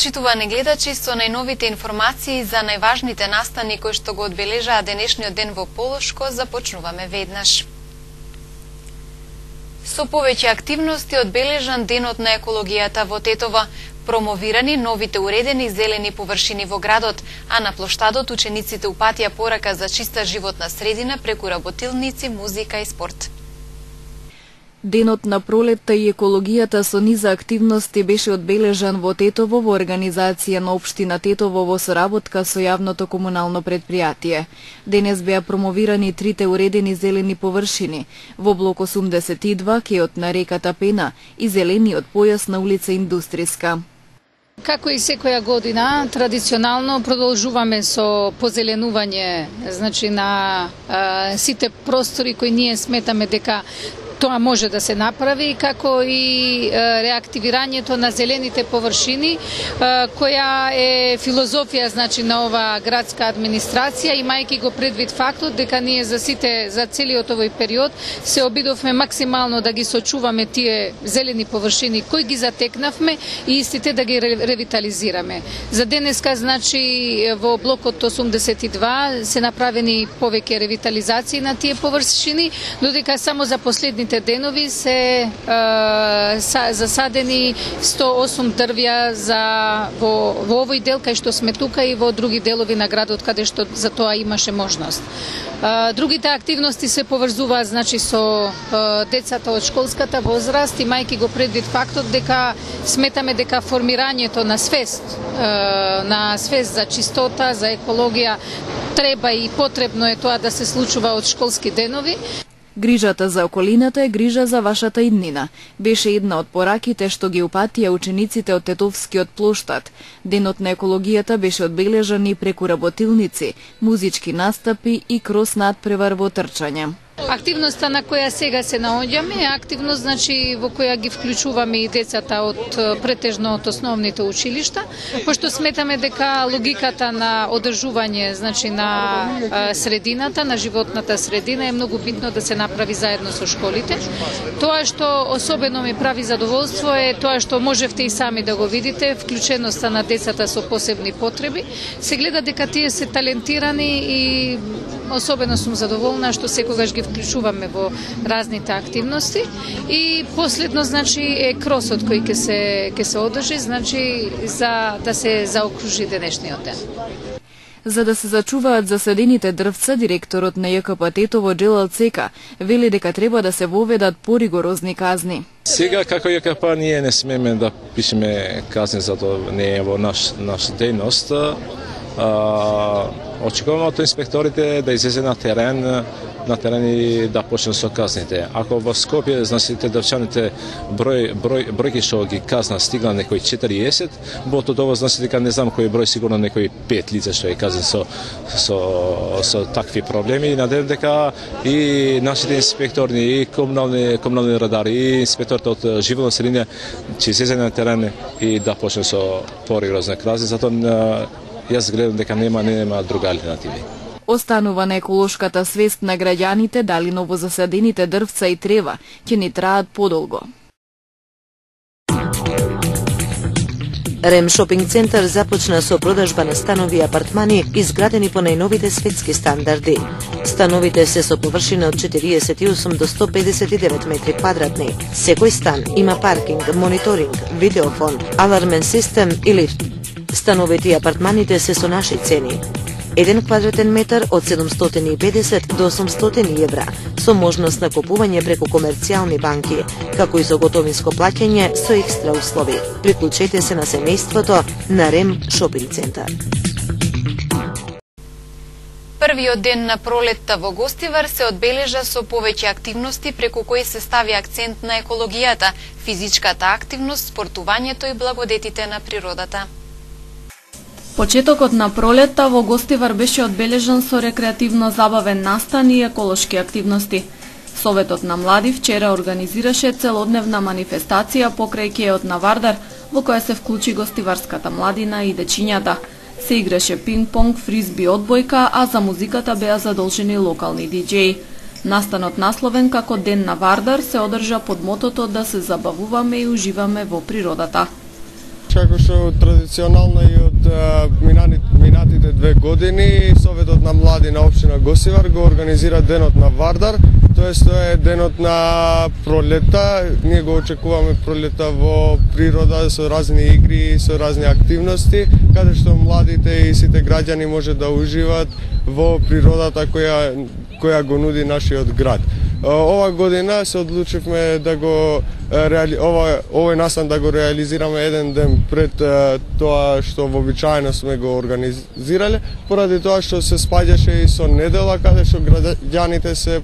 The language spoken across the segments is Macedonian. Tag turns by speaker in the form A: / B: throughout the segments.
A: Почитувани гледачи, со најновите информации за најважните настани кои што го одбележаа денешниот ден во Полошко, започнуваме веднаш. Со повеќе активности одбележан денот на екологијата во Тетово, промовирани новите уредени зелени површини во градот, а на плоштадот учениците упатија порака за чиста животна средина преку работилници, музика и спорт.
B: Денот на пролетта и екологијата со низа активности беше одбележан во Тетово во организација на општина Тетово во соработка со јавното комунално предпријатие. Денес беа промовирани трите уредени зелени површини во блок 82, кеот на реката Пена и зелениот појас на улица Индустријска.
C: Како и секоја година, традиционално продолжуваме со позеленување, значи на сите простори кои ние сметаме дека тоа може да се направи, како и реактивирањето на зелените површини, која е филозофија значи на ова градска администрација, имајќи го предвид фактот дека ние за целиот овој период се обидовме максимално да ги сочуваме тие зелени површини кои ги затекнавме и истите да ги ревитализираме. За денеска значи во блокот 82 се направени повеќе ревитализации на тие површини, додека само за последните денови се засадени 108 дрвја во овој дел кај што сме тука и во други делови на градот каде што за тоа имаше можност. Другите активности се поврзуваат значи со децата од школската возраст, имајќи го предвид фактот дека сметаме дека формирањето на свест за чистота, за екологија треба и потребно е тоа да се случува од школски денови.
B: Грижата за околината е грижа за вашата иднина. Беше една од пораките што ги упатија учениците од Тетовскиот плоштад. Денот на екологијата беше одбележан и преку работилници, музички настапи и крос надпревар во трчање.
C: Активноста на која сега се наоѓаме е активност значи во која ги вклучуваме и децата од претежно од основните училишта, пошто сметаме дека логиката на одржување значи на средината, на животната средина е многу битно да се направи заедно со школите. Тоа што особено ми прави задоволство е тоа што можевте и сами да го видите, вклученоста на децата со посебни потреби. Се гледа дека тие се талентирани и особено сум задоволна што секогаш ги вклучуваме во разните активности. И последно значи е кросот кој ќе се одржи, значи за да се заокружи денешниот ден.
B: За да се зачуваат засадените дрвца, директорот на ЈКП Тетово Джелал Цека вели дека треба да се воведат поригорозни казни.
D: Сега како ЈКП ние не смееме да пишеме казни за тоа, не е во наш дејност. Очекуваме од инспекторите да излезе на терен и да почне со казните. Ако во Скопје, знаете, дрвчаните бројки што ги казна стигна некој 40, во тоа знаете дека не знам кој број, сигурно некој 5 лица што е казан со такви проблеми. И надевам дека и нашите инспектори, и комунални радари, и инспекторите од животна средина ќе излезе на терен и да почне со поригорозни казни. Затоа јас гледам дека нема друга алтернативи.
B: Останува на еколошката свест на граѓаните дали новозасадените дрвца и трева ќе ни траат подолго.
E: Рем шопинг центар започна со продажба на станови и апартмани изградени по најновите светски стандарди. Становите се со површина од 48 до 159 метри квадратни. Секој стан има паркинг, мониторинг, видеофон, алармен систем и лифт. Становите и апартманите се со наши цени. 1 квадратен метар од 750 до 800 евра, со можност на купување преку комерцијални банки, како и со готовинско плаќање со екстра услови. Приклучете се на семејството на Рем шопинг центар.
A: Првиот ден на пролетта во Гостивар се одбележа со повеќе активности преку кои се стави акцент на екологијата, физичката активност, спортувањето и благодетите на природата.
F: Почетокот на пролетта во Гостивар беше одбележан со рекреативно-забавен настан и еколошки активности. Советот на млади вчера организираше целодневна манифестација покрај кеот на Вардар, во која се вклучи гостиварската младина и дечињата. Се играше пинг-понг, фризби, одбојка, а за музиката беа задолжени локални диџеи. Настанот насловен како Ден на Вардар се одржа под мотото да се забавуваме и уживаме во природата.
G: како што традиционално и од минатите 2 години Советот на млади на општина Гостивар го организира денот на Вардар, тоест тоа е денот на пролета. Ние го очекуваме пролета во природа со разни игри, со разни активности, каде што младите и сите граѓани може да уживаат во природата која го нуди нашиот град. Ова година се одлучивме да го овој настан да го реализираме еден ден пред тоа што вообичаено сме го организирале, поради тоа што се спаѓаше и со недела, каде што граѓаните се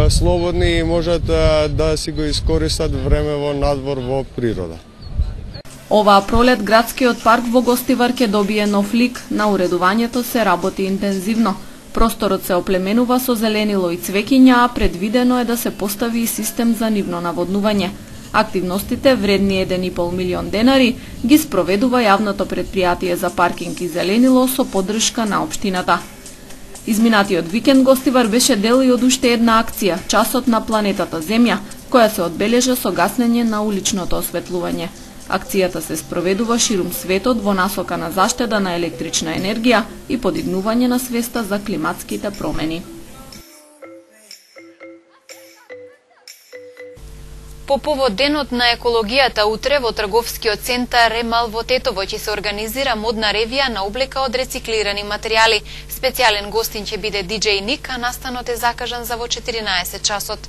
G: слободни и можат да си го искористат време во надвор во природа.
F: Оваа пролет градскиот парк во Гостивар ќе добие нов лик, на уредувањето се работи интензивно. Просторот се оплеменува со зеленило и цвеќиња, а предвидено е да се постави и систем за нивно наводнување. Активностите, вредни 1,5 милион денари, ги спроведува јавното претпријатие за паркинг и зеленило со поддршка на општината. Изминатиот викенд Гостивар беше дел и од уште една акција, Часот на планетата Земја, која се одбележа со гаснење на уличното осветлување. Акцијата се спроведува ширум светот во насока на заштеда на електрична енергија и подигнување на свеста за климатските промени.
A: По повод денот на екологијата утре во трговскиот центар Ремал во Тетово ќе се организира модна ревија на облека од рециклирани материјали. Специјален гостин ќе биде DJ Ник, а настанот е закажан за во 14 часот.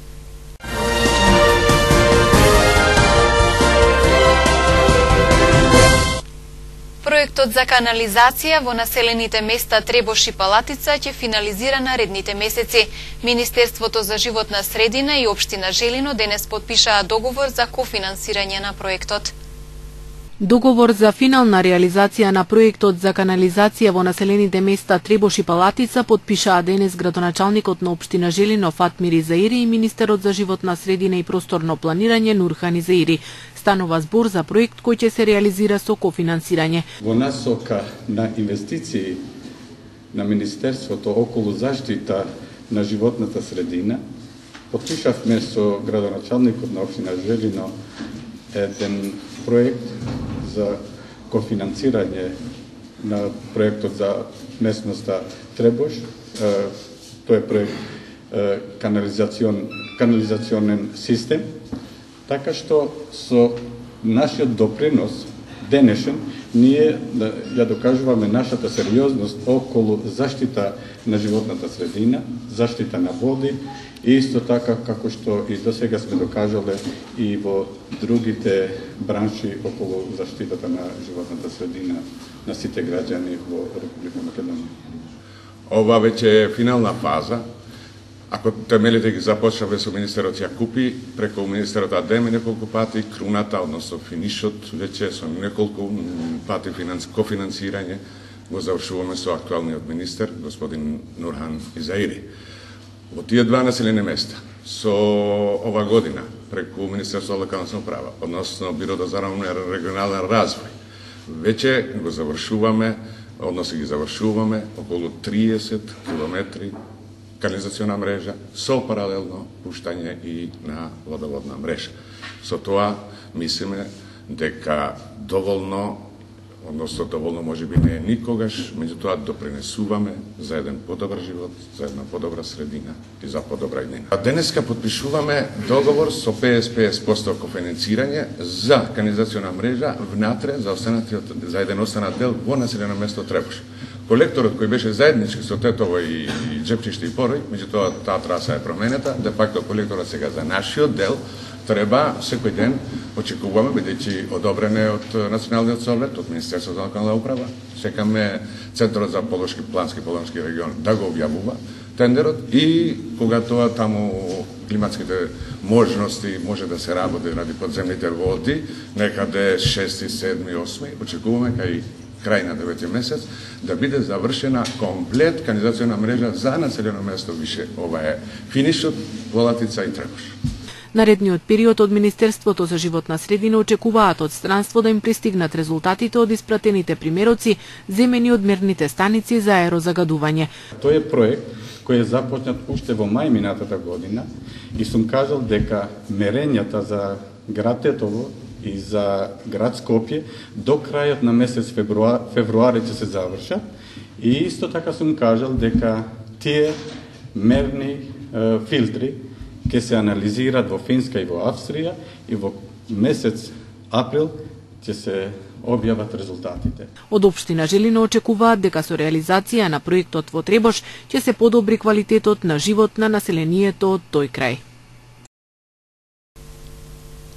A: Проектот за канализација во населените места Требош и Палатица ќе финализира наредните месеци. Министерството за животна средина и општина Желино денес потпишаа договор за кофинансирање на проектот.
H: Договор за финална реализација на проектот за канализација во населените места Требош и Палатица потпишаа денес градоначалникот на општина Желино Фатмир Изаири и министерот за животна средина и просторно планирање Нурхан Изаири. Станува збор за проект кој ќе се реализира со кофинансирање.
I: Во насока на инвестиции на Министерството околу заштита на животната средина, потпишавме со градоначалникот на општина Желино еден проект за кофинансирање на проектот за местноста Требош. Тој е проект канализационен систем, така што со нашиот допринос денешен ние ја докажуваме нашата сериозност околу заштита на животната средина, заштита на води и исто така како што и досега сме докажале и во другите бранши околу заштитата на животната средина на сите граѓани во Република Македонија.
J: Ова веќе е финална фаза. Ако темелите ги започнаве со министерот Јакупи, преку министерот Адеме неколку пати, круната, односно финишот, веќе со неколку пати кофинансирање, го завршуваме со актуалниот министер, господин Нурхан Изаири. Во тие два населени места, со ова година, преку Министерство за локална самоуправа, односно Бирото за регионален развој, веќе го завршуваме, односно ги завршуваме околу 30 километри канализациона мрежа со паралелно пуштање и на водоводна мрежа. Со тоа мислиме дека доволно може би не е никогаш, меѓутоа допринесуваме за еден подобар живот, за една подобра средина и за подобра иднина. А денеска потпишуваме договор со 50% кофинансирање за канализациона мрежа внатре за еден останат дел во населено место Требош. Колекторот кој беше заеднички со Тетово и Джепчиште и Порој, меѓутоа таа траса е променета, де факто колекторот сега за нашиот дел треба секој ден очекуваме, бидејќи одобрен е од Националниот совет, од Министерството за локална управа, чекаме Центарот за плански регион да го објавува тендерот и кога тоа таму климатските можности може да се работи ради подземните води, некаде 6, 7, 8, очекуваме кај крај на 9 месец да биде завршена комплет канализациона мрежа за населено место више. Ова е финишот Палатица и Требош.
H: Наредниот период од Министерството за животна средина очекуваат од странство да им пристигнат резултатите од испратените примероци земени од мерните станици за аерозагадување.
I: Тој е проект кој е започнат уште во мај минатата година и сум кажал дека мерењата за град Тетово и за град Скопје до крајот на месец февруари ќе се завршат. И исто така сум кажал дека тие мерни филтри ќе се анализираат во Финска и во Австрија и во месец април ќе се објават резултатите.
H: Од општина Желино очекуваат дека со реализација на проектот во Требош ќе се подобри квалитетот на живот на населението од тој крај.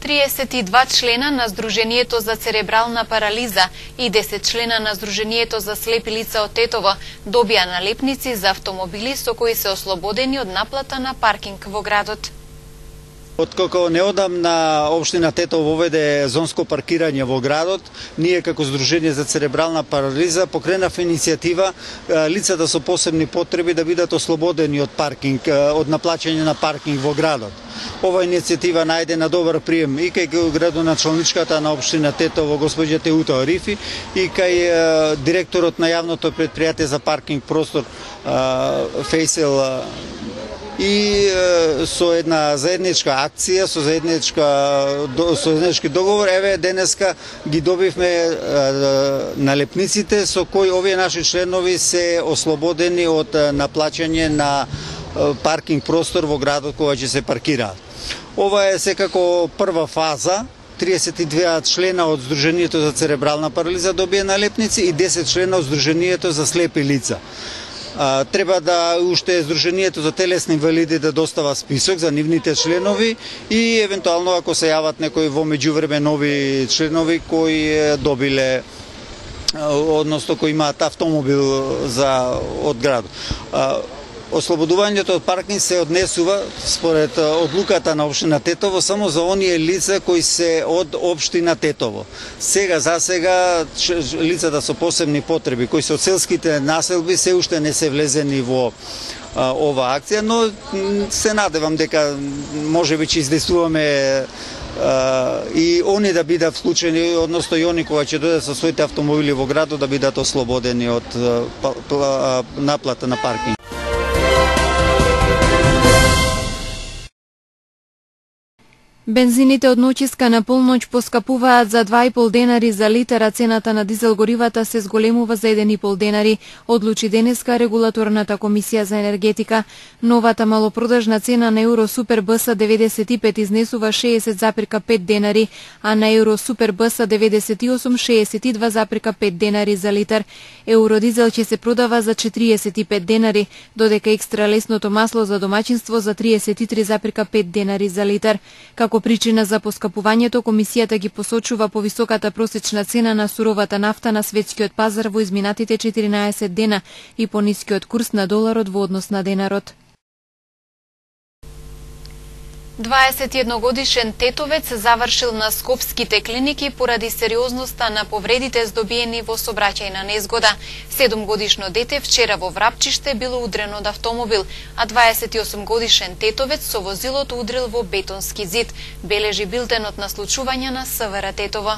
A: 32 члена на Сдруженијето за церебрална парализа и 10 члена на Сдруженијето за слепи лица од Тетово добија налепници за автомобили со кои се ослободени од наплата на паркинг во градот.
K: Откако неодамна општина Тетово воведе зонско паркирање во градот, ние како Сдружение за церебрална парализа покренавме иницијатива лицата со посебни потреби да бидат ослободени од паркинг, од наплаќање на паркинг во градот. Ова иницијатива најде на добар прием и кај градоначалничката на општина Тетово госпоѓа Теута Арифи и кај директорот на јавното претпријатие за паркинг простор Фейсел и со една заедничка акција, со заеднички договор, еве денеска ги добивме налепниците со кои овие наши членови се ослободени од наплаќање на паркинг простор во градот кога ќе се паркираат. Ова е секако прва фаза. 32 члена од Сдруженијето за церебрална парализа добија налепници и 10 члена од Сдруженијето за слепи лица. Треба да уште Сдруженијето за телесни инвалиди да достава список за нивните членови и евентуално ако се јават некои во меѓувреме нови членови кои добиле, односно кои имаат автомобил од градот. Ослободувањето од паркинг се однесува според одлуката на општина Тетово само за оние лица кои се од општина Тетово. За сега лицата со посебни потреби кои се од селските населби се уште не се влезени во ова акција, но се надевам дека можеби ќе издействуваме и они да бидат вклучени, односно и они кога ќе дојдат со своите автомобили во градот да бидат ослободени од наплата на паркинг.
B: Бензините од ноќиска на полноќ поскапуваат за 2,5 денари за литар, а цената на дизел горивата се зголемува за 1,5 денари, одлучи денеска регулаторната комисија за енергетика. Новата малопродажна цена на Евро Супер БС 95 изнесува 60,5 денари, а на Евро Супер БС 98 62,5 денари за литар. Евродизел ќе се продава за 45 денари, додека екстра лесното масло за домаќинство за 33,5 денари за литар. Како причина за поскапувањето, комисијата ги посочува повисоката просечна цена на суровата нафта на светскиот пазар во изминатите 14 дена и понискиот курс на доларот во однос на денарот.
A: 21-годишен тетовец завршил на скопските клиники поради сериозноста на повредите здобиени во сообраќајна незгода. 7-годишно дете вчера во Врапчиште било удрено од автомобил, а 28-годишен тетовец со возилото удрил во бетонски зид, бележи билтенот на случувања на СВР Тетово.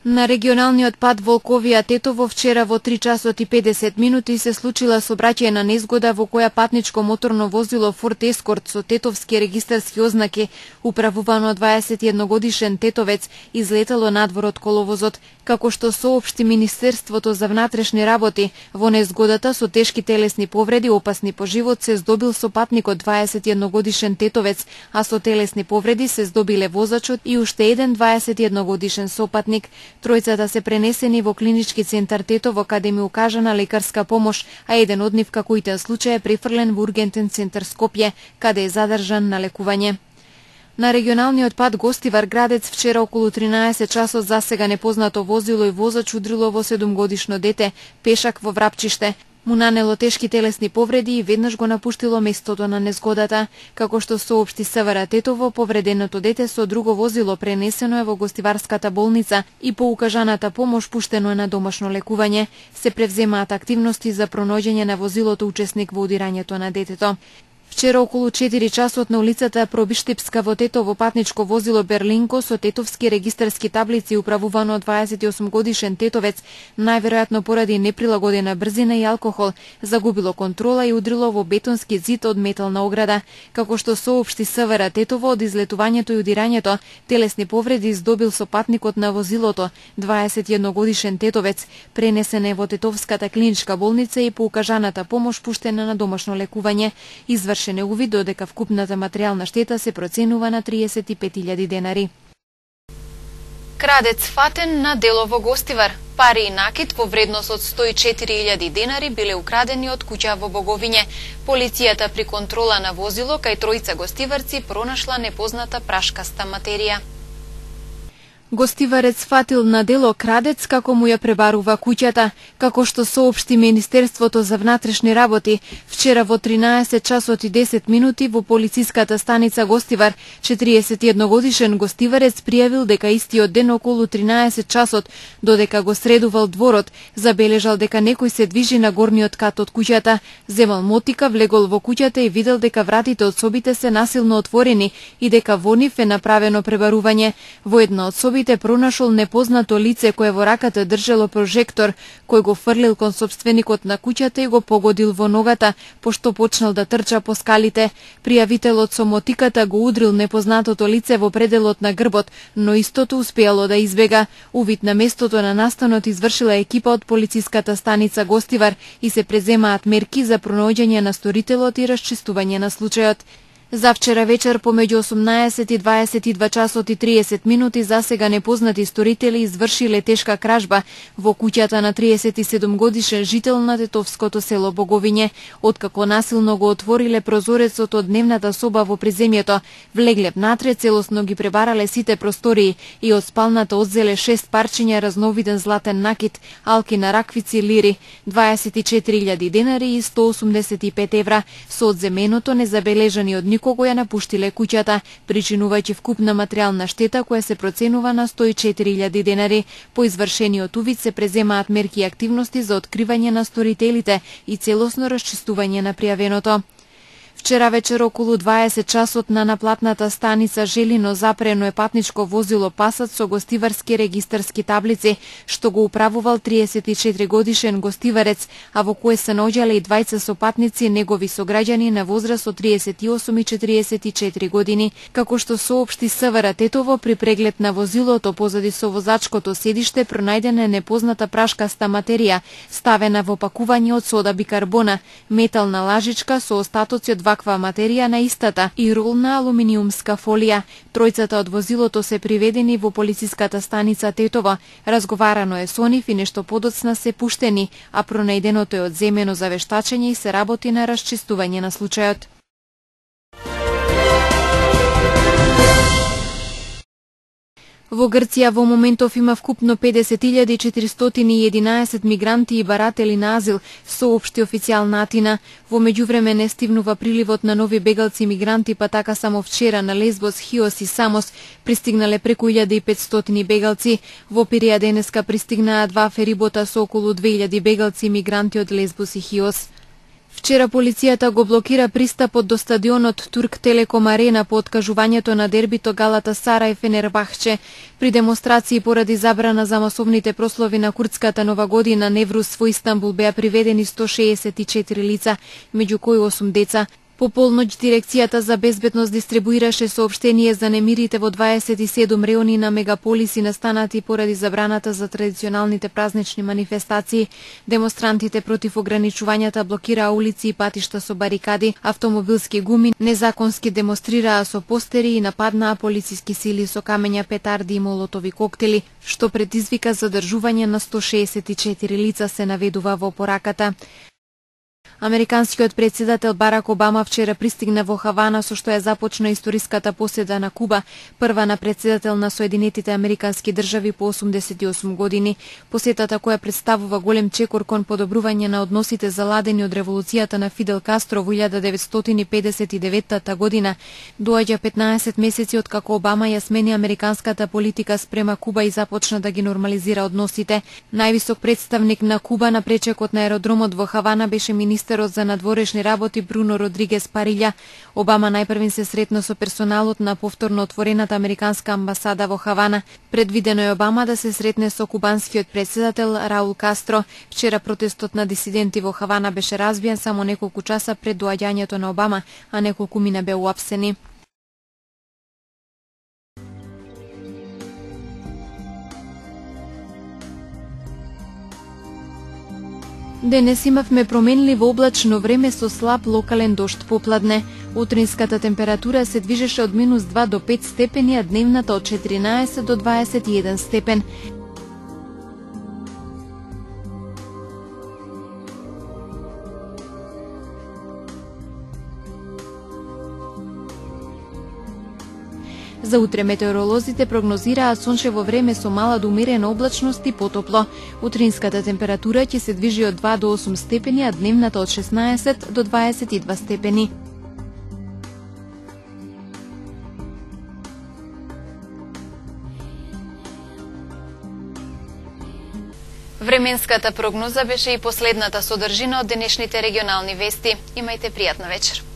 B: На регионалниот пат Волковија Тетово вчера во 3 часот и 50 минути се случила сообраќајна незгода во која патничко моторно возило Форд Ескорт со тетовски регистарски ознаки, управувано 21-годишен тетовец, излетало надвор од коловозот. Како што соопшти Министерството за внатрешни работи, во незгодата со тешки телесни повреди, опасни по живот, се здобил сопатникот 21-годишен тетовец, а со телесни повреди се здобиле возачот и уште еден 21-годишен сопатник. Тројцата се пренесени во клинички центар Тетово, каде ми укажана лекарска помош, а еден од нив како итен случај е префрлен во ургентен центар Скопје, каде е задржан на лекување. На регионалниот пат Гостивар Градец вчера околу 13 часот засега непознато возило и возач удрило во 7-годишно дете, пешак во Врапчиште. Му нанело тешки телесни повреди и веднаш го напуштило местото на незгодата. Како што соопшти СВР Тетово, повреденото дете со друго возило пренесено е во Гостиварската болница и по укажаната помош пуштено е на домашно лекување. Се превземаат активности за пронаоѓање на возилото учесник во удирањето на детето. Вчера околу 4 часот на улицата Пробиштепска во Тетово патничко возило Берлинко со тетовски регистарски таблици управувано од 28 годишен тетовец, најверојатно поради неприлагодена брзина и алкохол, загубило контрола и удрило во бетонски зид од метална ограда. Како што соопшти СВР Тетово, од излетувањето и удирањето, телесни повреди здобил со патникот на возилото, 21 годишен тетовец. Пренесен е во Тетовската клиничка болница и по укажаната помош пуштена на домашно лекување. Извршен е увид додека вкупната материјална штета се проценува на 35.000 денари.
A: Крадец фатен на дело во Гостивар. Пари и накит во вредност од 104.000 денари биле украдени од куќа во Боговиње. Полицијата при контрола на возило кај тројца гостиварци пронашла непозната прашкаста материја.
B: Гостиварец фатил на дело крадец како му ја пребарува куќата, како што соопшти Министерството за внатрешни работи. Вчера во 13 часот и 10 минути во полициската станица Гостивар, 41 годишен гостиварец пријавил дека истиот ден околу 13 часот, додека го средувал дворот, забележал дека некој се движи на горниот кат од куќата, земал мотика, влегол во куќата и видел дека вратите од собите се насилно отворени и дека во нив е направено пребарување. Во една од собите пронашол непознато лице кое во раката држело прожектор, кој го фрлил кон сопственикот на куќата и го погодил во ногата, пошто почнал да трча по скалите. Пријавителот со мотиката го удрил непознатото лице во пределот на грбот, но истото успеало да избега. Увид на местото на настанот извршила екипа од полициската станица Гостивар и се преземаат мерки за пронаоѓање на сторителот и расчистување на случајот. За вчера вечер помеѓу 18 и 22 часот и 30 минути засега непознати сторители извршиле тешка кражба во куќата на 37 годишен жител на тетовското село Боговиње. Откако насилно го отвориле прозорецот од дневната соба во приземјето, влегле внатре, целосно ги пребарале сите простории и од спалната одзеле 6 парчиња разновиден златен накит, алки на раквици лири, 24.000 денари и 185 евра. Со одземеното незабележани од кога ја напуштиле куќата, причинувајќи вкупна материјална штета која се проценува на 104.000 денари. По извршениот увид се преземаат мерки и активности за откривање на сторителите и целосно расчистување на пријавеното. Вчера вечер околу 20 часот на наплатната станица Желино запрено е патничко возило Пасат со гостиварски регистарски таблици, што го управувал 34 годишен гостиварец, а во кое се наоѓале и двајца сопатници негови сограѓани на возраст од 38 и 44 години. Како што соопшти СВР Тетово, при преглед на возилото позади со возачкото седиште пронајдена непозната прашкаста материја, ставена во пакување од сода бикарбона, метална лажичка со остатоци од ваква материја на истата и ролна алуминиумска фолија. Тројцата од возилото се приведени во полициската станица Тетово. Разговарано е со нив и нешто подоцна се пуштени, а пронајденото е одземено за вештачење и се работи на расчистување на случајот. Во Грција во моментов има вкупно 50.411 мигранти и баратели на азил, соопшти официјална Атина. Во меѓувреме не стивнува приливот на нови бегалци мигранти, па така само вчера на Лесбос, Хиос и Самос пристигнале преку 1500 бегалци. Во Пиреја денеска пристигнаа 2 ферибота со околу 2000 бегалци мигранти од Лесбос и Хиос. Вчера полицијата го блокира пристапот до стадионот Турк Телеком Арена по откажувањето на дербито Галатасарај Фенербахче. При демонстрации поради забрана за масовните прослави на курдската нова година Неврус во Истанбул беа приведени 164 лица, меѓу кои 8 деца. По полноќ дирекцијата за безбедност дистрибуираше соопштение за немирите во 27 реони на мегаполиси настанати поради забраната за традиционалните празнични манифестации. Демонстрантите против ограничувањата блокираа улици и патишта со барикади, автомобилски гуми, незаконски демонстрираа со постери и нападнаа полициски сили со камења, петарди и молотови коктели, што предизвика задржување на 164 лица, се наведува во пораката. Американскиот председател Барак Обама вчера пристигна во Хавана, со што ја започна историската поседа на Куба, прва на председател на Соединетите Американски држави по 88 години. Посетата, која представува голем чекор кон подобрување на односите заладени од револуцијата на Фидел Кастро во 1959 година, доаѓа 15 месеци од како Обама ја смени американската политика спрема Куба и започна да ги нормализира односите. Највисок представник на Куба на пречекот на аеродромот во Хавана беше министер министерот за надворешни работи Бруно Родригес Парилја. Обама најпрвин се сретна со персоналот на повторно отворената американска амбасада во Хавана. Предвидено е Обама да се сретне со кубанскиот претседател Раул Кастро. Вчера протестот на дисиденти во Хавана беше разбиен само неколку часа пред доаѓањето на Обама, а неколку мина беа уапсени. Денес имавме променливо облачно време со слаб локален дожд попладне. Утринската температура се движеше од -2 до 5 степени, а дневната од 14 до 21 степен. За утре метеоролозите прогнозираат сончево време со мала до умерена облачност и потопло. Утринската температура ќе се движи од 2 до 8 степени, а дневната од 16 до 22 степени.
A: Временската прогноза беше и последната содржина од денешните регионални вести. Имајте пријатна вечер.